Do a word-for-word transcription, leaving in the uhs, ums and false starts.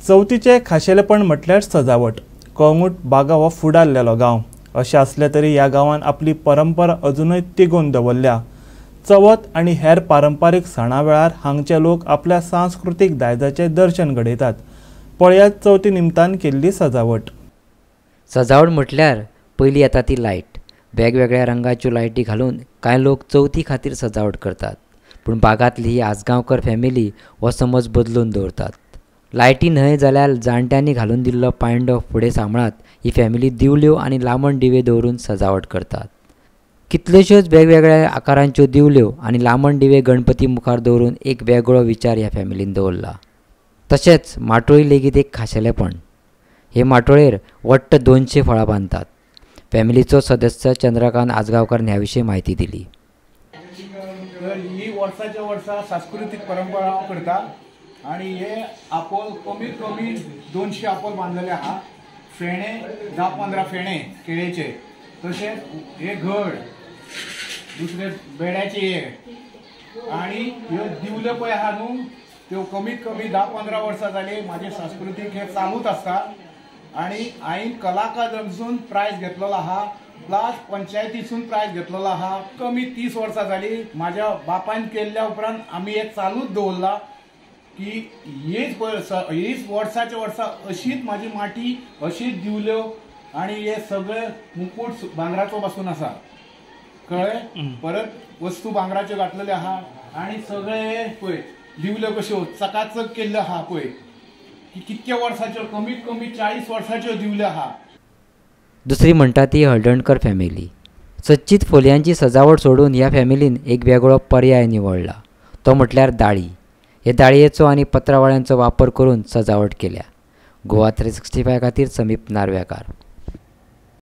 चवथीचें खाशेलेपण म्हटल्यार सजावट. कळंगूट बागा हो फुडारलेलो गांव अशें आसलें तरी ह्या गांवान आपली परंपरा अजुनूय तिगोवन दवरल्या. चवथ आनी हेर पारंपारीक सणां वेळार हांगचे लोक आपल्या सांस्कृतीक दायजाचें दर्शन घडयतात. पळयात चवथी निमतान केल्ली सजावट. सजावट म्हटल्यार पयली येता ती लायट. वेगवेगळ्या रंगाच्यो लायटी घालून कांय लोक चवथी खातीर सजावट करतात, पूण बागांतली ही आजगांवकर फॅमिली हो समज बदलून दवरतात. लायटी न्हय जाल्यार जाणट्यांनी घालून दिल्लो पांयडो फुडें सांबाळत ही फॅमिली दिवल्यो आनी लांबण दिवे दवरून सजावट करतात. कितल्योश्योच वेगवेगळ्या आकारांच्यो दिवल्यो आनी लांबण दिवे गणपती मुखार दवरून एक वेगळो विचार ह्या फॅमिलीन दवरला. तशेंच माटोळी लेगीत एक खाशेलेपण. हे माटोळेर वट्ट दोनशे फळां बांदतात. फॅमिलीचो सदस्य चंद्रकांत आजगांवकार ह्या विशीं म्हायती दिली. तर ही वर्साच्या वर्सा सांस्कृतीक परंपरा हांव करता आनी हे आपोल कमीत कमी दोनशे आपोल बांदलेले आहा. फेणे धा पंदरा फेणे केळेचे, तशेंच हे घड, दुसरे बेड्याचे हे, आनी ह्यो दिवल्यो पळय आहा न्हू त्यो कमीत कमी धा पंदरा वर्सां जाली म्हाजें सांस्कृतीक हे चालूच आसता. आनी हांवें कलाकारांसून प्रायज घेतलेलो आहा, प्लस पंचायतीसून प्रायज घेतलेलो आहा. कमी तीस वर्सां जाली म्हाज्या बापायन केल्ल्या उपरांत आमी हे चालूच दवरला की हीच हीच वर्साच्या वर्सा अशीच म्हाजी माटी, अशीच दिवल्यो आनी हे सगळे मुकूट भांगराचो पासून आसा, कळ्ळें. परत वस्तू भांगराच्यो घातलेल्यो आहा आनी सगळे पळय दिवल्यो कश्यो चकाचक केल्ल्यो आहा पळय की कितक्या वर्साच्यो, कमीत कमी चाळीस वर्साच्यो दिवल्यो आहा. दुसरी म्हणटा ती हळदणकर फॅमिली. सच्चीत फोलयांची सजावट सोडून ह्या फॅमिलीन एक वेगळो पर्याय निवडला, तो म्हटल्यार दाळी. हे दाळयेचो आनी पत्रावळ्यांचो वापर करून सजावट केल्या. गोवा थ्री सिक्स्टी फाय खातीर समीप नार्वेकार.